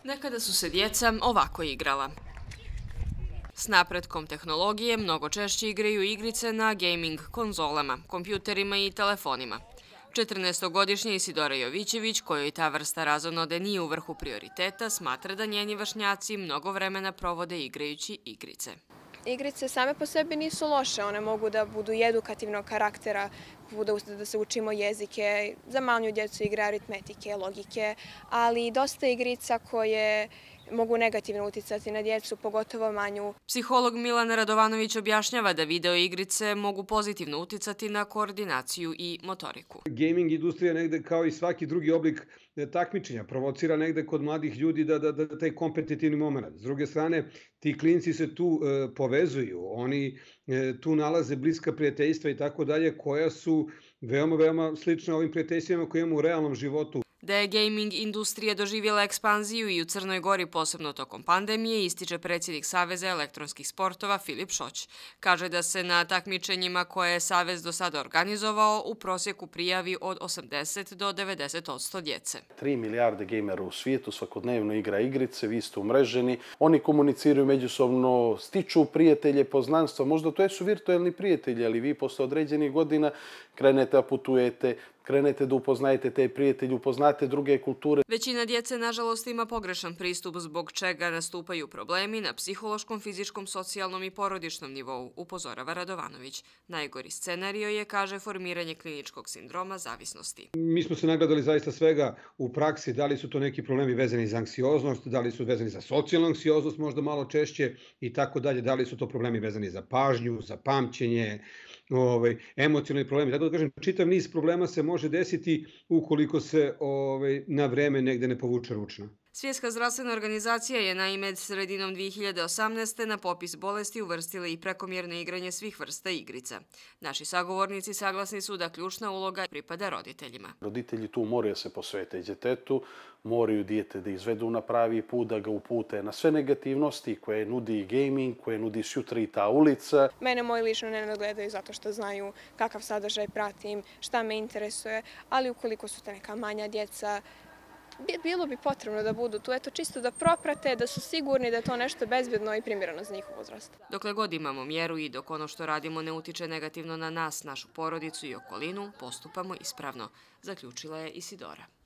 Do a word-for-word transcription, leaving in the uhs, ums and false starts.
Nekada su se djeca ovako igrala. S napretkom tehnologije mnogo češće igraju igrice na gaming konzolama, kompjuterima i telefonima. četrnaestogodišnja Isidora Jovićević, kojoj ta vrsta razonode nije u vrhu prioriteta, smatra da njeni vršnjaci mnogo vremena provode igrajući igrice. Igrice same po sebi nisu loše, one mogu da budu i edukativnog karaktera, da se učimo jezike, za manju djecu igre aritmetike, logike, ali i dosta igrica koje mogu negativno uticati na djecu, pogotovo manju. Psiholog Milan Radovanović objašnjava da video igrice mogu pozitivno uticati na koordinaciju i motoriku. Gaming industrija negde kao i svaki drugi oblik takmičenja provocira negde kod mladih ljudi da, da, da taj kompetitivni moment. S druge strane, ti klinci se tu e, povezuju, oni e, tu nalaze bliska prijateljstva i tako dalje, koja su veoma, veoma slična ovim prijateljstvima koje imamo u realnom životu. Da je gaming industrija doživjela ekspanziju i u Crnoj Gori, posebno tokom pandemije, ističe predsjednik Saveza elektronskih sportova Filip Šoć. Kaže da se na takmičenjima koje je Savez do sada organizovao u prosjeku prijavi od osamdeset do devedeset odsto djece. Tri milijarde gejmera u svijetu svakodnevno igra igrice, vi ste umreženi, oni komuniciraju međusobno, stiču prijatelje, poznanstva, možda to su virtualni prijatelji, ali vi posle određenih godina krenete da putujete, krenete da upoznajete te prijatelje, upoznate druge kulture. Većina djece, nažalost, ima pogrešan pristup zbog čega nastupaju problemi na psihološkom, fizičkom, socijalnom i porodičnom nivou, upozorava Radovanović. Najgori scenario je, kaže, formiranje kliničkog sindroma zavisnosti. Mi smo se nagledali zaista svega u praksi, da li su to neki problemi vezani za anksioznost, da li su vezani za socijalnu anksioznost možda malo češće i tako dalje, da li su to problemi vezani za pažnju, za pamćenje, ovaj, emocionalni problemi. Tako da kažem, čitav niz problema se može desiti ukoliko se ovaj, na vreme negde ne povuče ručna. Svjetska zdravstvena organizacija je naime sredinom dvije hiljade osamnaeste. na popis bolesti uvrstila i prekomjerno igranje svih vrsta igrica. Naši sagovornici saglasni su da ključna uloga pripada roditeljima. Roditelji tu moraju se posvetiti djetetu, moraju dijete da izvedu na pravi put, da ga upute na sve negativnosti koje nudi gaming, koje nudi sutra i ta ulica. Mene moji lično ne nadgledaju zato što znaju kakav sadržaj pratim, šta me interesuje, ali ukoliko su te neka manja djeca, bilo bi potrebno da budu tu, eto čisto da proprate, da su sigurni da je to nešto bezbjedno i primjereno za njihov uzrast. Dokle god imamo mjeru i dok ono što radimo ne utiče negativno na nas, našu porodicu i okolinu, postupamo ispravno, zaključila je Isidora.